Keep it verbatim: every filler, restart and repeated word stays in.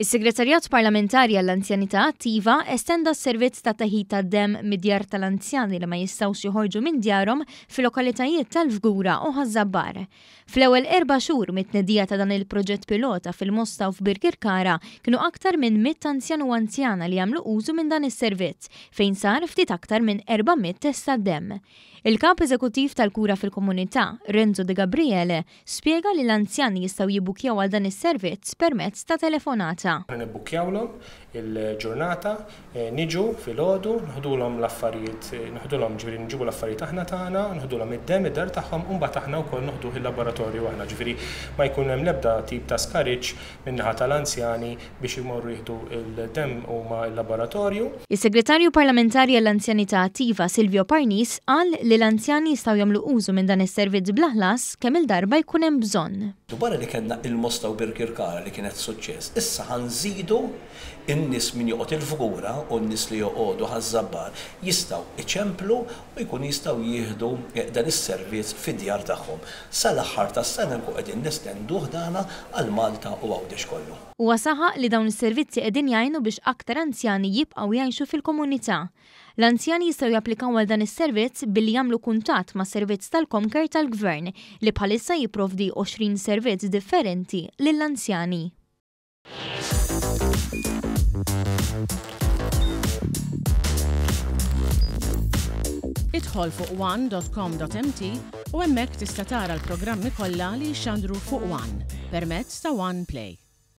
Is-Segretarjat Parlamentari għall-Anzjanità Attiva estenda s-servizz ta' teħid tad-demm mid-djar tal-anzjani li ma jistgħux joħorġu minn djarhom fil-lokalitajiet tal-Fgura u Ħaż-Żabbar. Fl-ewwel erba' xhur mit-tnedija ta' dan il-proġett pilota fil-Mosta u f'Birkirkara kienu aktar minn mitt anzjan u anzjana li għamlu użu minn dan is-servizz, fejn sar ftit aktar minn erba' mitt test tad-demm. Il-Kap Eżekuttiv tal-Kura fil-Komunità, Renzo De Gabriele, spjega li l-anzjani jistgħu jibbukjaw għal dan is-servizz permezz ta' telefonata. Nibbukjawlhom il-ġurnata, niġu filgħodu, nħdulhom l-affarijiet, nħdulhom ġifieri nġibu l-affarijiet aħna tagħna, nħdulhom id-demm id-dar tagħhom u mbagħad aħna wkoll noħduh il-laboratorju aħna, ġifieri ma jkun hemm l-ebda tip ta' skariġġ min-naħa tal-anzjani biex imorru jieħdu il-demm huma l-laboratorju. Is-Segretarju Parlamentari għall-Anzjanità Attiva Silvio Parnis qal li l-anzjani jistgħu jagħmlu użu minn dan is-servizz bla ħlas kemm il-darba jkun hemm bżonn. Wara li kellna il-Mosta u Birkirkara li kienet suċċess, issa ħanżidu in-nies min joqgħod il-Fgura u n-nies li joqogħdu Ħaż-Żabbar jistgħu iċemplu u jkunu jistgħu jieħdu dan is-servizz fid-djar tagħhom. Sal-aħħar tas-sena nkun qegħdin nestenduh dana għal Malta u Għawdex kollu. Huwa saħaq li dawn is-servizzi qegħdin jgħinu biex aktar anzjani jibqgħu jgħixu fil-komunità. L-anzjani jistgħu japplikaw għal dan is-servizz billi jagħmlu kuntatt ma' servizz tal-CommCare tal-Gvern li bħalissa jipprovdi għoxrin servizz differenti lill-anzjani. Idħol fuq one dot com dot m t u hemmhekk tista' tara l-programmi kollha li jixxandru fuq One permezz ta' One Play.